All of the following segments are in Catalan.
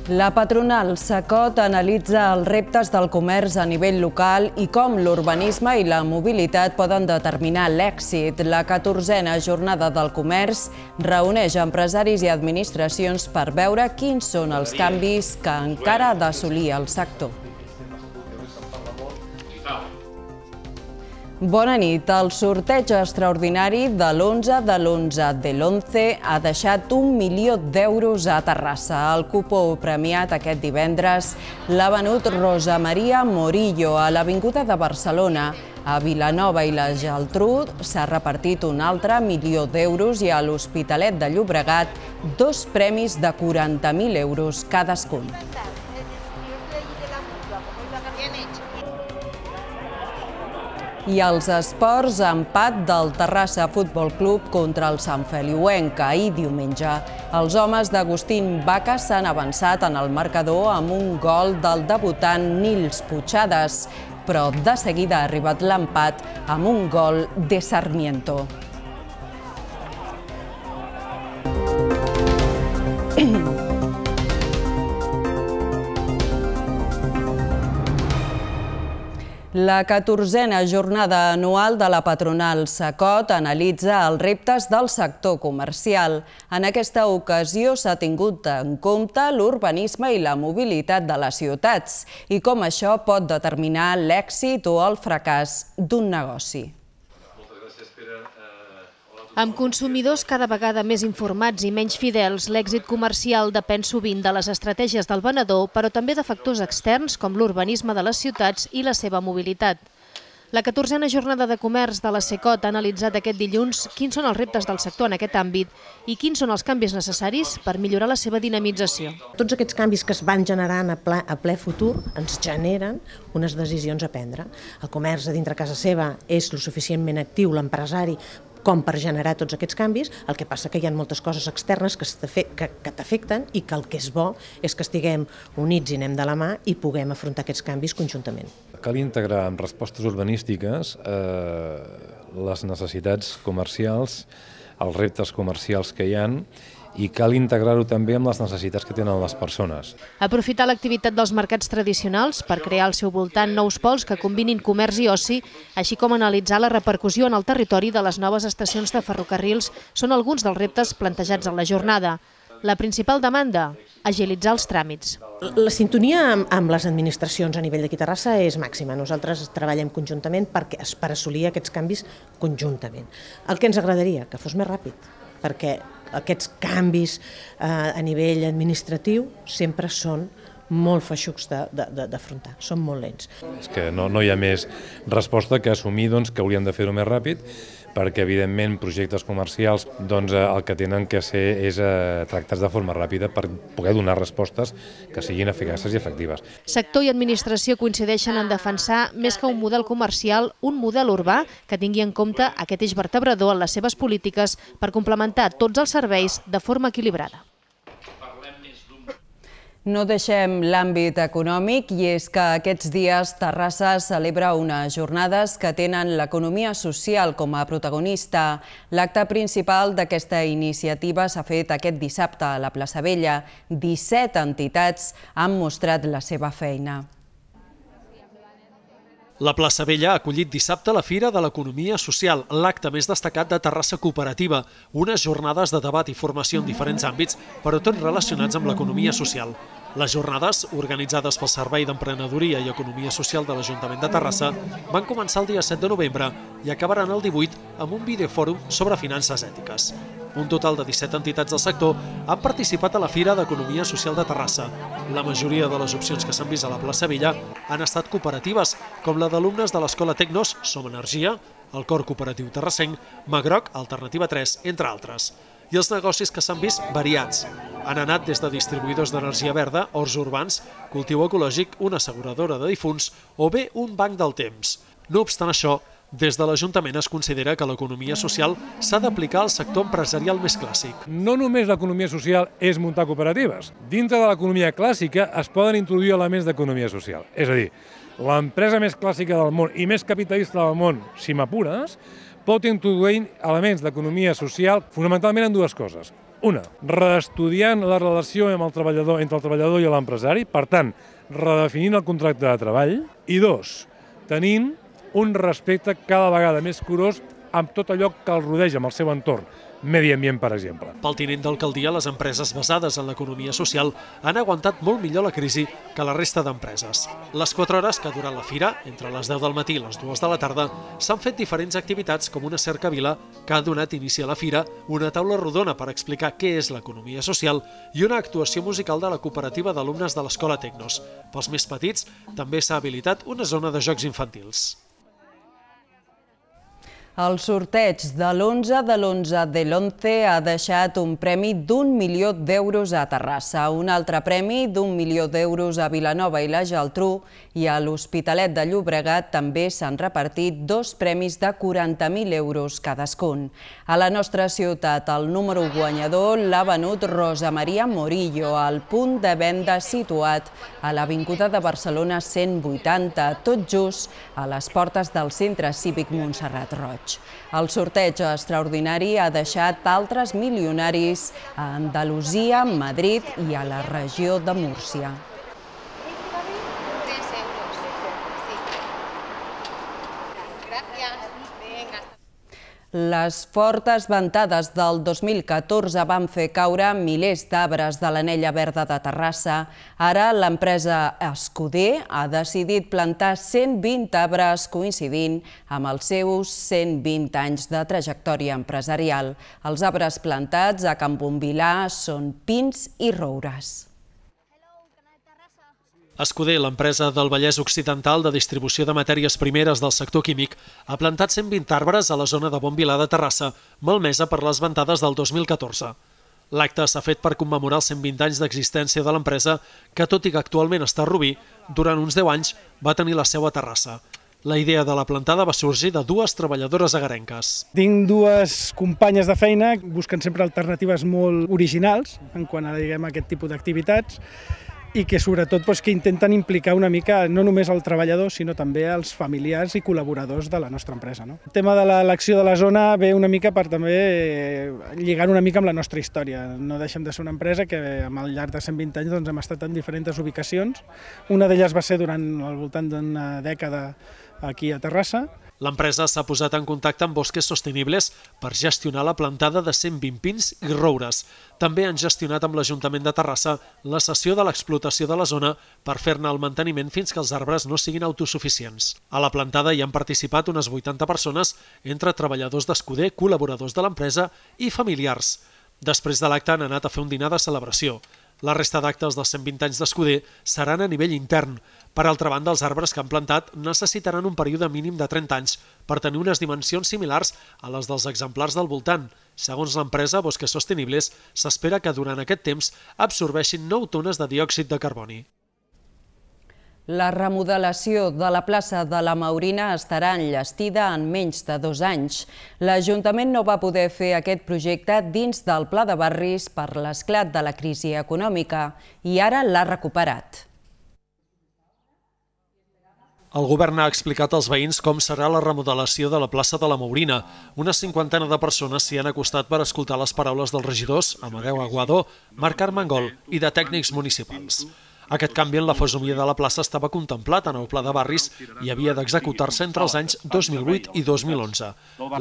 La patronal SACOT analitza els reptes del comerç a nivell local i com l'urbanisme i la mobilitat poden determinar l'èxit. La 14a jornada del comerç reuneix empresaris i administracions per veure quins són els canvis que encara ha d'assolir el sector. Bona nit. El sorteig extraordinari de l'11 de l'11 de l'11 ha deixat 1 milió d'euros a Terrassa. El cupó premiat aquest divendres l'ha venut Rosa Maria Morillo a l'Avinguda de Barcelona. A Vilanova i la Geltrú s'ha repartit un altre milió d'euros i a l'Hospitalet de Llobregat 2 premis de 40.000 euros cadascun. I als esports, empat del Terrassa Futbol Club contra el Sant Feliuenc ahir diumenge. Els homes d'Agustín Vaca s'han avançat en el marcador amb un gol del debutant Nils Puigades, però de seguida ha arribat l'empat amb un gol de Sarmiento. La 14a jornada anual de la patronal SACOT analitza els reptes del sector comercial. En aquesta ocasió s'ha tingut en compte l'urbanisme i la mobilitat de les ciutats i com això pot determinar l'èxit o el fracàs d'un negoci. Amb consumidors cada vegada més informats i menys fidels, l'èxit comercial depèn sovint de les estratègies del venedor, però també de factors externs com l'urbanisme de les ciutats i la seva mobilitat. La 14a jornada de comerç de la SACOT ha analitzat aquest dilluns quins són els reptes del sector en aquest àmbit i quins són els canvis necessaris per millorar la seva dinamització. Tots aquests canvis que es van generant a ple futur ens generen unes decisions a prendre. El comerç a dintre casa seva és lo suficientment actiu, l'empresari, com per generar tots aquests canvis. El que passa que hi ha moltes coses externes que t'afecten i que el que és bo és que estiguem units i anem de la mà i puguem afrontar aquests canvis conjuntament. Cal integrar en respostes urbanístiques les necessitats comercials, els reptes comercials que hi ha, i cal integrar-ho també amb les necessitats que tenen les persones. Aprofitar l'activitat dels mercats tradicionals per crear al seu voltant nous pols que combinin comerç i oci, així com analitzar la repercussió en el territori de les noves estacions de ferrocarrils són alguns dels reptes plantejats en la jornada. La principal demanda? Agilitzar els tràmits. La sintonia amb les administracions a nivell d'aquí a Terrassa és màxima. Nosaltres treballem conjuntament per assolir aquests canvis conjuntament. El que ens agradaria, que fos més ràpid, perquè aquests canvis a nivell administratiu sempre són molt feixucs d'afrontar, són molt lents. És que no hi ha més resposta que assumir que haurien de fer-ho més ràpid, perquè evidentment projectes comercials el que tenen que ser és tractats de forma ràpida per poder donar respostes que siguin eficaces i efectives. Sector i administració coincideixen en defensar més que un model comercial, un model urbà que tingui en compte aquest eix vertebrador en les seves polítiques per complementar tots els serveis de forma equilibrada. No deixem l'àmbit econòmic i és que aquests dies Terrassa celebra unes jornades que tenen l'economia social com a protagonista. L'acte principal d'aquesta iniciativa s'ha fet aquest dissabte a la Plaça Vella. 17 entitats han mostrat la seva feina. La Plaça Vella ha acollit dissabte la Fira de l'Economia Social, l'acte més destacat de Terrassa Cooperativa, unes jornades de debat i formació en diferents àmbits, però tots relacionats amb l'economia social. Les jornades, organitzades pel Servei d'Emprenedoria i Economia Social de l'Ajuntament de Terrassa, van començar el dia 7 de novembre i acabaran el 18 amb un videofòrum sobre finances ètiques. Un total de 17 entitats del sector han participat a la Fira d'Economia Social de Terrassa. La majoria de les opcions que s'han vist a la Plaça Vella han estat cooperatives, com la d'alumnes de l'Escola Tecnos, Som Energia, el Cor Cooperatiu Terrassenc, Magroc, Alternativa 3, entre altres. I els negocis que s'han vist variats. Han anat des de distribuïdors d'energia verda, horts urbans, cultiu ecològic, una asseguradora de difunts o bé un banc del temps. No obstant això, des de l'Ajuntament es considera que l'economia social s'ha d'aplicar al sector empresarial més clàssic. No només l'economia social és muntar cooperatives. Dintre de l'economia clàssica es poden introduir elements d'economia social. És a dir, l'empresa més clàssica del món i més capitalista del món, si m'apures, pot introduir elements d'economia social fonamentalment en dues coses. Una, reestudiant la relació entre el treballador i l'empresari, per tant, redefinint el contracte de treball. I dos, tenint un respecte cada vegada més curós amb tot allò que el rodeja, amb el seu entorn, medi ambient, per exemple. Pel tinent d'alcaldia, les empreses basades en l'economia social han aguantat molt millor la crisi que la resta d'empreses. Les 4 hores que ha durat la fira, entre les 10 del matí i les 2 de la tarda, s'han fet diferents activitats com una cercavila que ha donat inici a la fira, una taula rodona per explicar què és l'economia social i una actuació musical de la cooperativa d'alumnes de l'Escola Tecnos. Pels més petits, també s'ha habilitat una zona de jocs infantils. El sorteig de l'11 de l'11 de l'11 ha deixat un premi d'1 milió d'euros a Terrassa, un altre premi d'1 milió d'euros a Vilanova i la Geltrú i a l'Hospitalet de Llobregat també s'han repartit 2 premis de 40.000 euros cadascun. A la nostra ciutat, el número guanyador l'ha venut Rosa Maria Morillo, al punt de venda situat a l'Avinguda de Barcelona 180, tot just a les portes del Centre Cívic Montserrat Roig. El sorteig extraordinari ha deixat altres milionaris a Andalusia, Madrid i a la regió de Múrcia. Les fortes ventades del 2014 van fer caure milers d'arbres de l'Anella Verda de Terrassa. Ara l'empresa Escuder ha decidit plantar 120 arbres coincidint amb els seus 120 anys de trajectòria empresarial. Els arbres plantats a Can Bombilà són pins i roures. Escuder, l'empresa del Vallès Occidental de distribució de matèries primeres del sector químic, ha plantat 120 arbres a la zona de Bonvilà de Terrassa, malmesa per les ventades del 2014. L'acte s'ha fet per commemorar els 120 anys d'existència de l'empresa, que tot i que actualment està a Rubí, durant uns 10 anys va tenir la seu a Terrassa. La idea de la plantada va sorgir de 2 treballadores agarenques. Tinc 2 companyes de feina, busquen sempre alternatives molt originals en quant a aquest tipus d'activitats, i que sobretot que intenten implicar una mica no només el treballador, sinó també els familiars i col·laboradors de la nostra empresa. El tema de l'elecció de la zona ve una mica per també lligar una mica amb la nostra història. No deixem de ser una empresa que al llarg de 120 anys hem estat en diferents ubicacions. Una d'elles va ser durant al voltant d'una dècada aquí a Terrassa. L'empresa s'ha posat en contacte amb Bosques Sostenibles per gestionar la plantada de 120 pins i roures. També han gestionat amb l'Ajuntament de Terrassa la cessió de l'explotació de la zona per fer-ne el manteniment fins que els arbres no siguin autosuficients. A la plantada hi han participat unes 80 persones, entre treballadors d'Escuder, col·laboradors de l'empresa i familiars. Després de l'acte han anat a fer un dinar de celebració. La resta d'actes dels 120 anys d'Escuder seran a nivell intern. Per altra banda, els arbres que han plantat necessitaran un període mínim de 30 anys per tenir unes dimensions similars a les dels exemplars del voltant. Segons l'empresa Bosques Sostenibles, s'espera que durant aquest temps absorbeixin 9 tones de diòxid de carboni. La remodelació de la plaça de la Maurina estarà enllestida en menys de 2 anys. L'Ajuntament no va poder fer aquest projecte dins del Pla de Barris per l'esclat de la crisi econòmica i ara l'ha recuperat. El govern ha explicat als veïns com serà la remodelació de la plaça de la Maurina. Una 50ena de persones s'hi han acostat per escoltar les paraules dels regidors Amadeu Aguado, Marc Armengol i de tècnics municipals. Aquest canvi en la fesomia de la plaça estava contemplat en el Pla de Barris i havia d'executar-se entre els anys 2008 i 2011.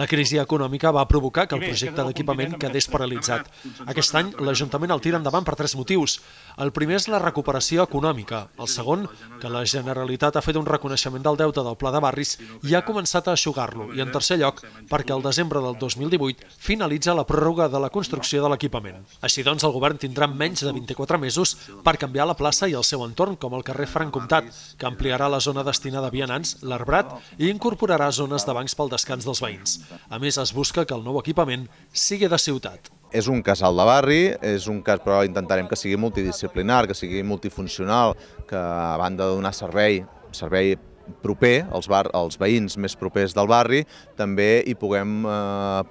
La crisi econòmica va provocar que el projecte d'equipament quedés paralitzat. Aquest any l'Ajuntament el tira endavant per 3 motius. El primer és la recuperació econòmica. El segon, que la Generalitat ha fet un reconeixement del deute del Pla de Barris i ha començat a eixugar-lo. I en tercer lloc, perquè el desembre del 2018 finalitza la pròrroga de la construcció de l'equipament. Així doncs, el govern tindrà menys de 24 mesos per canviar la plaça i el seu entorn, com el carrer Franc Comtat, que ampliarà la zona destinada a vianants, l'arbrat, i incorporarà zones de bancs pel descans dels veïns. A més, es busca que el nou equipament sigui de ciutat. És un casal de barri, és un cas, però intentarem que sigui multidisciplinar, que sigui multifuncional, que a banda de donar servei proper, els veïns més propers del barri, també hi puguem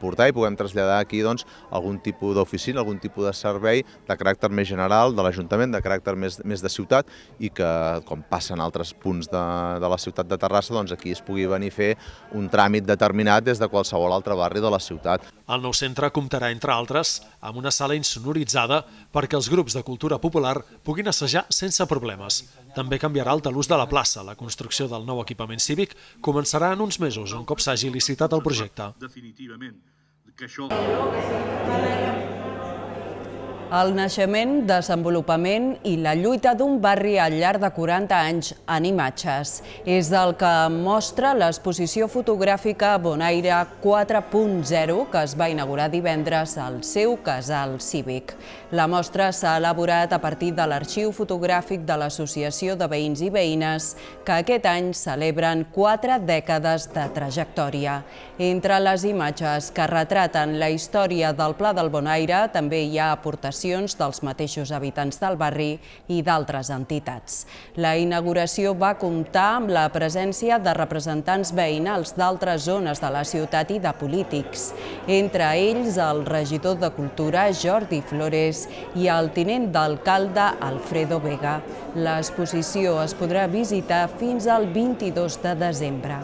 portar i puguem traslladar aquí algun tipus d'oficina, algun tipus de servei de caràcter més general de l'Ajuntament, de caràcter més de ciutat, i que, com passa en altres punts de la ciutat de Terrassa, aquí es pugui venir a fer un tràmit determinat des de qualsevol altre barri de la ciutat. El nou centre comptarà, entre altres, amb una sala insonoritzada perquè els grups de cultura popular puguin assajar sense problemes. També canviarà el talús de la plaça. La construcció del nou equipament cívic començarà en uns mesos, un cop s'hagi licitat el projecte. El naixement, desenvolupament i la lluita d'un barri al llarg de 40 anys en imatges. És el que mostra l'exposició fotogràfica Bonaire 4.0 que es va inaugurar divendres al seu casal cívic. La mostra s'ha elaborat a partir de l'arxiu fotogràfic de l'Associació de Veïns i Veïnes que aquest any celebren 4 dècades de trajectòria. Entre les imatges que retraten la història del Pla del Bonaire també hi ha aportacions dels mateixos habitants del barri i d'altres entitats. La inauguració va comptar amb la presència de representants veïnals d'altres zones de la ciutat i de polítics, entre ells el regidor de Cultura, Jordi Flores, i el tinent d'alcalde, Alfredo Vega. L'exposició es podrà visitar fins al 22 de desembre.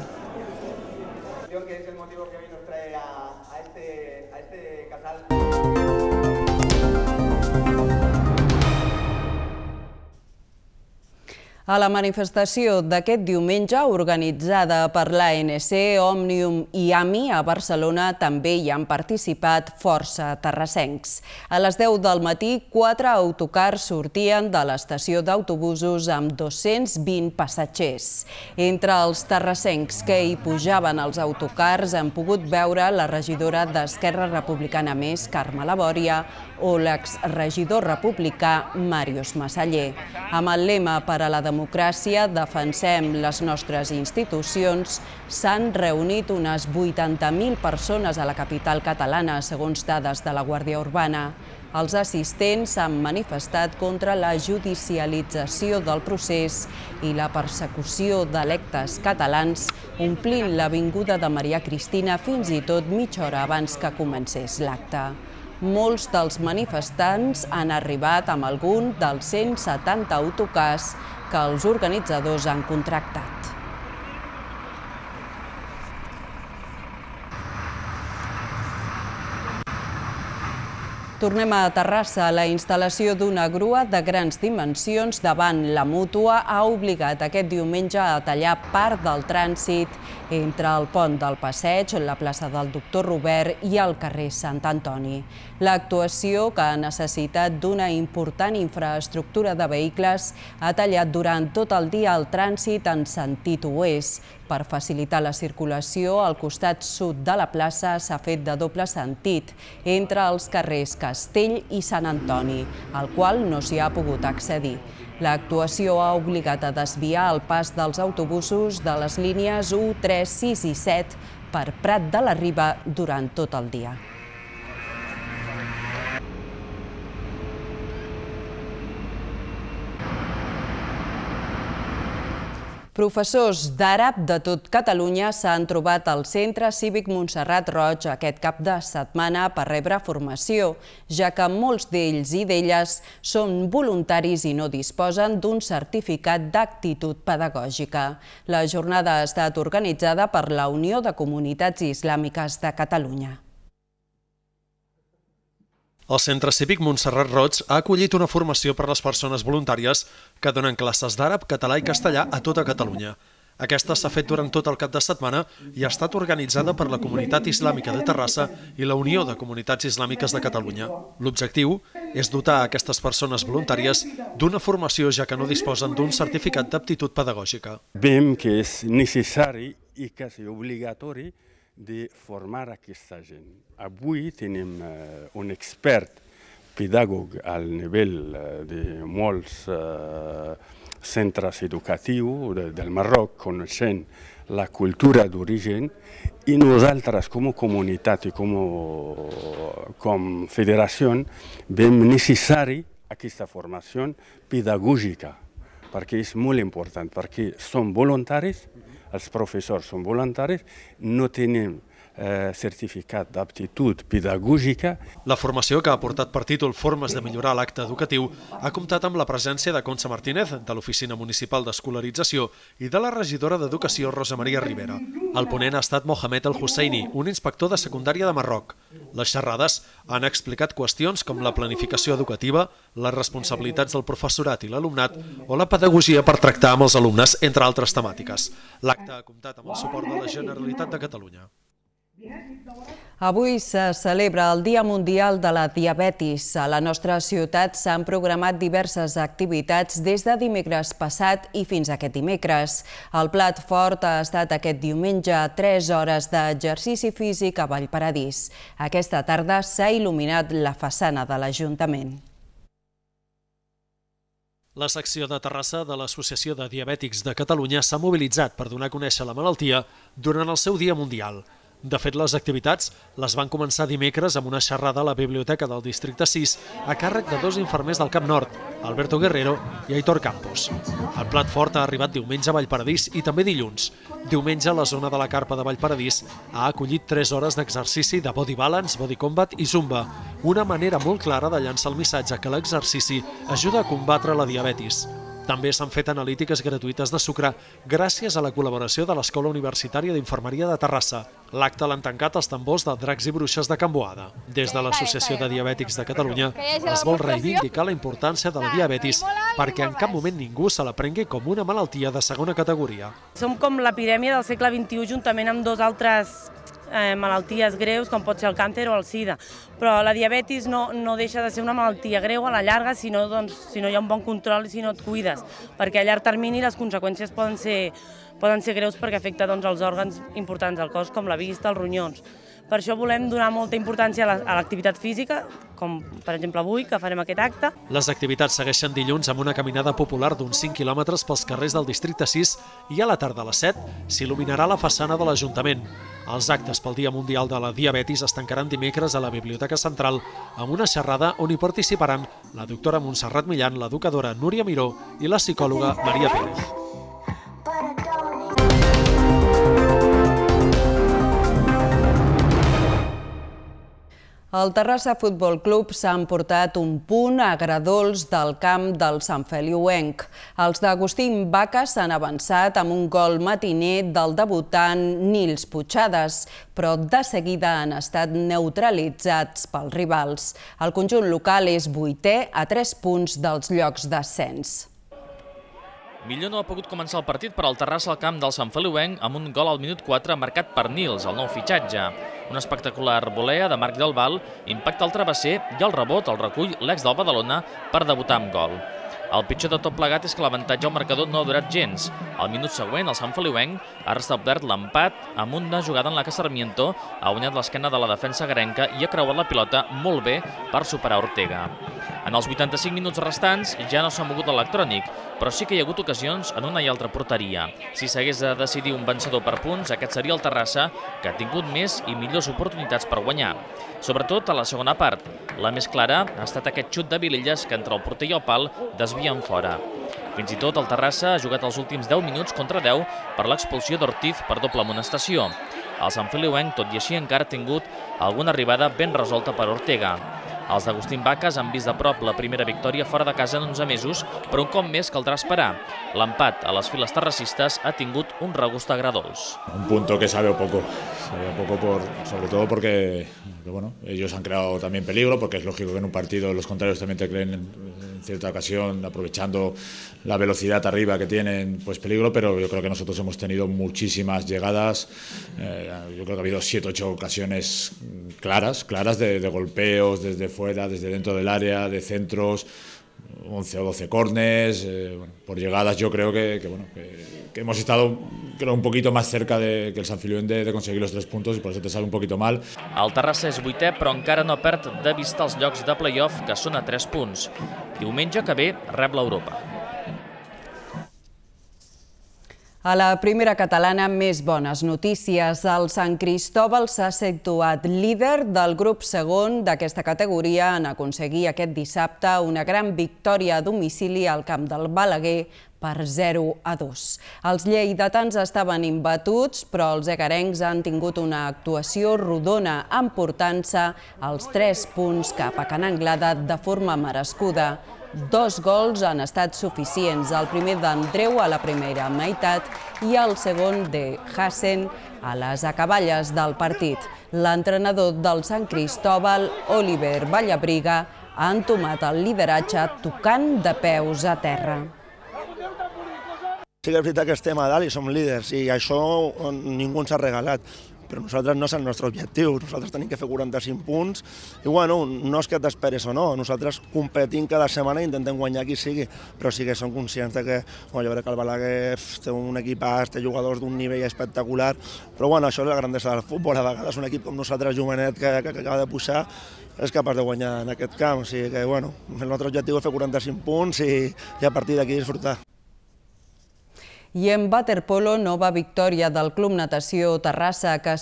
A la manifestació d'aquest diumenge, organitzada per l'ANC, Òmnium i AMI a Barcelona, també hi han participat força terrassencs. A les 10 del matí, 4 autocars sortien de l'estació d'autobusos amb 220 passatgers. Entre els terrassencs que hi pujaven als autocars han pogut veure la regidora d'Esquerra Republicana Més, Carme Labòria, o l'exregidor republicà Màrius Massaller. Amb el lema per a la democràcia, defensem les nostres institucions, s'han reunit unes 80.000 persones a la capital catalana, segons dades de la Guàrdia Urbana. Els assistents s'han manifestat contra la judicialització del procés i la persecució d'electes catalans, omplint l'avinguda de Maria Cristina fins i tot mitja hora abans que comencés l'acte. Molts dels manifestants han arribat amb algun dels 170 autocars que els organitzadors han contractat. Tornem a Terrassa. La instal·lació d'una grua de grans dimensions davant la Mútua ha obligat aquest diumenge a tallar part del trànsit entre el pont del Passeig, la plaça del Doctor Robert i el carrer Sant Antoni. L'actuació, que ha necessitat d'una important infraestructura de vehicles, ha tallat durant tot el dia el trànsit en sentit oest. Per facilitar la circulació, al costat sud de la plaça s'ha fet de doble sentit entre els carrers Castell i Sant Antoni, al qual no s'hi ha pogut accedir. L'actuació ha obligat a desviar el pas dels autobusos de les línies 1, 3, 6 i 7 per Prat de la Riba durant tot el dia. Professors d'àrab de tot Catalunya s'han trobat al Centre Cívic Montserrat Roig aquest cap de setmana per rebre formació, ja que molts d'ells i d'elles són voluntaris i no disposen d'un certificat d'actitud pedagògica. La jornada ha estat organitzada per la Unió de Comunitats Islàmiques de Catalunya. El Centre Cívic Montserrat Roig ha acollit una formació per a les persones voluntàries que donen classes d'àrab, català i castellà a tota Catalunya. Aquesta s'ha fet durant tot el cap de setmana i ha estat organitzada per la Comunitat Islàmica de Terrassa i la Unió de Comunitats Islàmiques de Catalunya. L'objectiu és dotar a aquestes persones voluntàries d'una formació, ja que no disposen d'un certificat d'aptitud pedagògica. Veiem que és necessari i quasi obligatori de formar aquesta gent. Avui tenim un expert pedagog al nivell de molts centres educatius del Marroc, coneixent la cultura d'origen, i nosaltres com a comunitat i com federació veiem necessari aquesta formació pedagògica, perquè és molt important, perquè som voluntaris els professors són voluntaris, no tenim certificat d'aptitud pedagògica. La formació, que ha portat per títol Formes de millorar l'acte educatiu, ha comptat amb la presència de Concha Martínez, de l'Oficina Municipal d'Escolarització, i de la regidora d'Educació, Rosa Maria Rivera. El ponent ha estat Mohamed El Husseini, un inspector de secundària de Marroc. Les xerrades han explicat qüestions com la planificació educativa, les responsabilitats del professorat i l'alumnat o la pedagogia per tractar amb els alumnes, entre altres temàtiques. L'acte ha comptat amb el suport de la Generalitat de Catalunya. Avui se celebra el Dia Mundial de la Diabetis. A la nostra ciutat s'han programat diverses activitats des de dimecres passat i fins aquest dimecres. El plat fort ha estat aquest diumenge 3 hores d'exercici físic a Vallparadís. Aquesta tarda s'ha il·luminat la façana de l'Ajuntament. La secció de Terrassa de l'Associació de Diabètics de Catalunya s'ha mobilitzat per donar a conèixer la malaltia durant el seu Dia Mundial. De fet, les activitats les van començar dimecres amb una xerrada a la Biblioteca del Districte 6 a càrrec de 2 infermers del Camp Nord, Alberto Guerrero i Aitor Campos. El plat fort ha arribat diumenge a Vallparadís i també dilluns. Diumenge, la zona de la Carpa de Vallparadís ha acollit 3 hores d'exercici de body balance, body combat i zumba, una manera molt clara de llançar el missatge que l'exercici ajuda a combatre la diabetis. També s'han fet analítiques gratuïtes de sucre gràcies a la col·laboració de l'Escola Universitària d'Infermeria de Terrassa. L'acte l'han tancat els tambors de Dracs i Bruixes de Can Boada. Des de l'Associació de Diabètics de Catalunya es vol reivindicar la importància de la diabetis perquè en cap moment ningú se la prengui com una malaltia de segona categoria. Som com l'epidèmia del segle XXI juntament amb 2 altres malalties greus com pot ser el càncer o el sida, però la diabetis no deixa de ser una malaltia greu a la llarga si no hi ha un bon control i si no et cuides, perquè a llarg termini les conseqüències poden ser greus perquè afecta els òrgans importants del cos com la vista, els ronyons. Per això volem donar molta importància a l'activitat física, com per exemple avui, que farem aquest acte. Les activitats segueixen dilluns amb una caminada popular d'uns 5 quilòmetres pels carrers del Districte 6 i a la tarda a les 7 s'il·luminarà la façana de l'Ajuntament. Els actes pel Dia Mundial de la Diabetis es tancaran dimecres a la Biblioteca Central amb una xerrada on hi participaran la doctora Montserrat Millan, l'educadora Núria Miró i la psicòloga Maria Pérez. El Terrassa Futbol Club s'ha emportat un punt a Gradols del camp del Sant Feliuenc. Els d'Agustín Vaca s'han avançat amb un gol matiner del debutant Nils Puigades, però de seguida han estat neutralitzats pels rivals. El conjunt local és 8è a 3 punts dels llocs d'ascens. Millor no ha pogut començar el partit per al Terrassa al camp del Sant Feliuenc amb un gol al minut 4 marcat per Nils, el nou fitxatge. Una espectacular volea de Marc Del Val impacta el travesser i el rebot el recull l'ex del Badalona per debutar amb gol. El pitjor de tot plegat és que l'avantatge al marcador no ha durat gens. Al minut següent, el Sant Feliuenc ha restablert l'empat amb una jugada en la que Sarmiento ha guanyat l'esquena de la defensa garenca i ha creuat la pilota molt bé per superar Ortega. En els 85 minuts restants ja no s'ha mogut l'electrònic, però sí que hi ha hagut ocasions en una i altra porteria. Si s'hagués de decidir un vencedor per punts, aquest seria el Terrassa, que ha tingut més i millors oportunitats per guanyar. Sobretot a la segona part. La més clara ha estat aquest xut de Vilelles que entre el porter i el pal desvien fora. Fins i tot el Terrassa ha jugat els últims 10 minuts contra 10 per l'expulsió d'Ortiz per doble amonestació. El Sant Feliuenc, tot i així, encara ha tingut alguna arribada ben resolta per Ortega. Els d'Agustín Vacas han vist de prop la primera victòria fora de casa en 11 mesos, però un cop més caldrà esperar. L'empat a les files terracistes ha tingut un regust a Gradols. Un punto que sabe poco sobre todo porque ellos han creado también peligro, porque es lógico que en un partido los contrarios también te creen en cierta ocasión, aprovechando la velocidad arriba que tienen, pues peligro, pero yo creo que nosotros hemos tenido muchísimas llegadas, yo creo que ha habido 7 o 8 ocasiones claras de golpeos desde fuera, desde dentro del área, de centros, 11 o 12 córners, por llegadas yo creo que hemos estado un poquito más cerca que el Sant Feliuenc de conseguir los 3 puntos y por eso te sale un poquito mal. El Terrassa és 8è però encara no perd de vista els llocs de play-off que són a 3 punts. Diumenge que ve rep l'Europa. A la primera catalana, més bones notícies. El Sant Cristòbal s'ha situat líder del grup segon d'aquesta categoria en aconseguir aquest dissabte una gran victòria a domicili al camp del Balaguer per 0-2. Els lleidatans estaven imbatuts, però els egarencs han tingut una actuació rodona, emportant-se els 3 punts cap a Can Anglada de forma merescuda. 2 gols han estat suficients, el primer d'Andreu a la primera meitat i el segon de Hassen a les acaballes del partit. L'entrenador del Sant Cristóbal, Oliver Vallabriga, ha entomat el lideratge tocant de peus a terra. Sí que és veritat que estem a dalt i som líders i això ningú ens ha regalat. Però nosaltres no és el nostre objectiu, nosaltres tenim que fer 45 punts i bueno, no és que t'esperes o no, nosaltres competim cada setmana i intentem guanyar qui sigui, però sí que som conscients que jo crec que el Balaguer té un equipàs, té jugadors d'un nivell espectacular, però bueno, això és la grandesa del futbol, a vegades un equip com nosaltres, jovenet, que acaba de pujar, és capaç de guanyar en aquest camp, o sigui que bueno, el nostre objectiu és fer 45 punts i a partir d'aquí disfrutar. I en waterpolo, nova victòria del Club Natació Terrassa que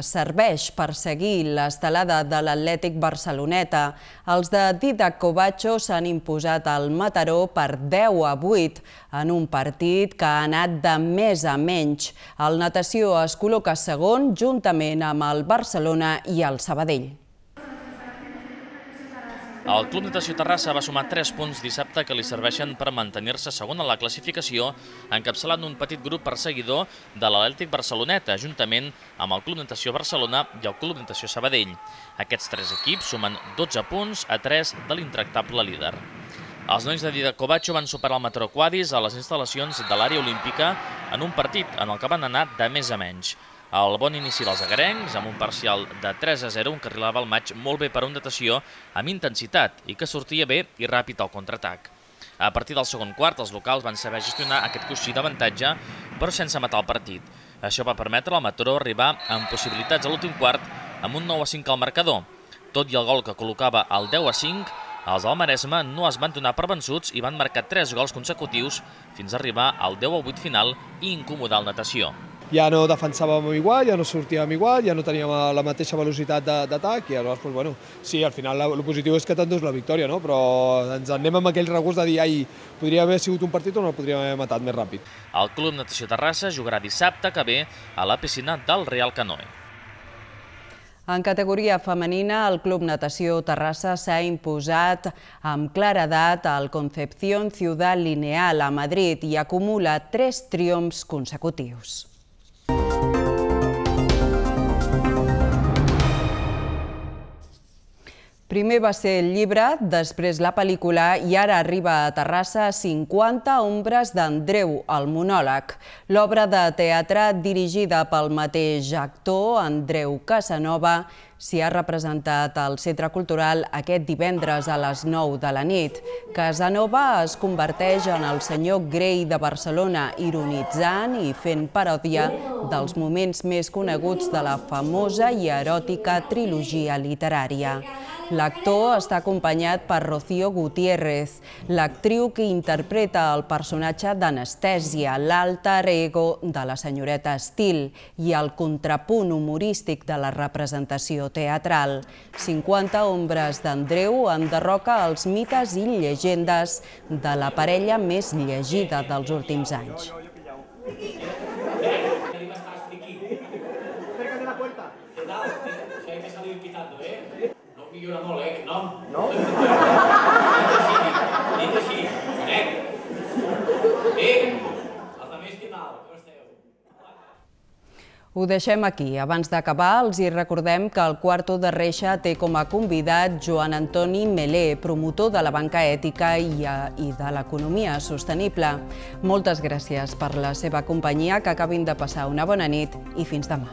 serveix per seguir l'estelada de l'Atlètic Barceloneta. Els de Didac Covacho s'han imposat al Mataró per 10-8 en un partit que ha anat de més a menys. El Natació es col·loca segon juntament amb el Barcelona i el Sabadell. El Club Natació Terrassa va sumar 3 punts dissabte que li serveixen per mantenir-se segon a la classificació, encapçalant un petit grup perseguidor de l'Atlètic Barceloneta, juntament amb el Club Natació Barcelona i el Club Natació Sabadell. Aquests 3 equips sumen 12 punts a 3 de l'intractable líder. Els nois de Didac Covacho van superar el Mataró Quadis a les instal·lacions de l'àrea olímpica en un partit en el que van anar de més a menys. El bon inici dels agarencs, amb un parcial de 3-0, encarrilava el maig molt bé per a un Natació amb intensitat i que sortia bé i ràpid al contraatac. A partir del segon quart, els locals van saber gestionar aquest coixí d'avantatge, però sense matar el partit. Això va permetre al Mataró arribar amb possibilitats a l'últim quart amb un 9-5 al marcador. Tot i el gol que col·locava el 10-5, els del Maresme no es van donar per vençuts i van marcar 3 gols consecutius fins a arribar al 10-8 final i incomodar el Natació. Ja no defensàvem igual, ja no sortíem igual, ja no teníem la mateixa velocitat d'atac i llavors, bueno, sí, al final el positiu és que t'endús la victòria, no? Però ens anem amb aquell regust de dir, ai, podria haver sigut un partit on el podríem haver matat més ràpid. El Club Natació Terrassa jugarà dissabte que ve a la piscina del Real Canoe. En categoria femenina, el Club Natació Terrassa s'ha imposat amb claredat al Concepción Ciudad Lineal a Madrid i acumula 3 triomfs consecutius. Primer va ser el llibre, després la pel·lícula i ara arriba a Terrassa 50 ombres d'Andreu, el monòleg. L'obra de teatre dirigida pel mateix actor, Andreu Casanova, s'hi ha representat al Centre Cultural aquest divendres a les 9 de la nit. Casanova es converteix en el senyor Grey de Barcelona, ironitzant i fent paròdia dels moments més coneguts de la famosa i eròtica trilogia literària. L'actor està acompanyat per Rocío Gutiérrez, l'actriu que interpreta el personatge d'Anestèsia, l'alter ego de la senyoreta Steele i el contrapunt humorístic de la representació teatral. 50 ombres d'Andreu enderroca els mites i llegendes de la parella més llegida dels últims anys. Millora molt, aquest nom. No? Dit així, bé, els altres què tal? Com esteu? Ho deixem aquí. Abans d'acabar, els hi recordem que el Quarto de Reixa té com a convidat Joan Antoni Melé, promotor de la banca ètica i de l'economia sostenible. Moltes gràcies per la seva companyia, que acabin de passar una bona nit i fins demà.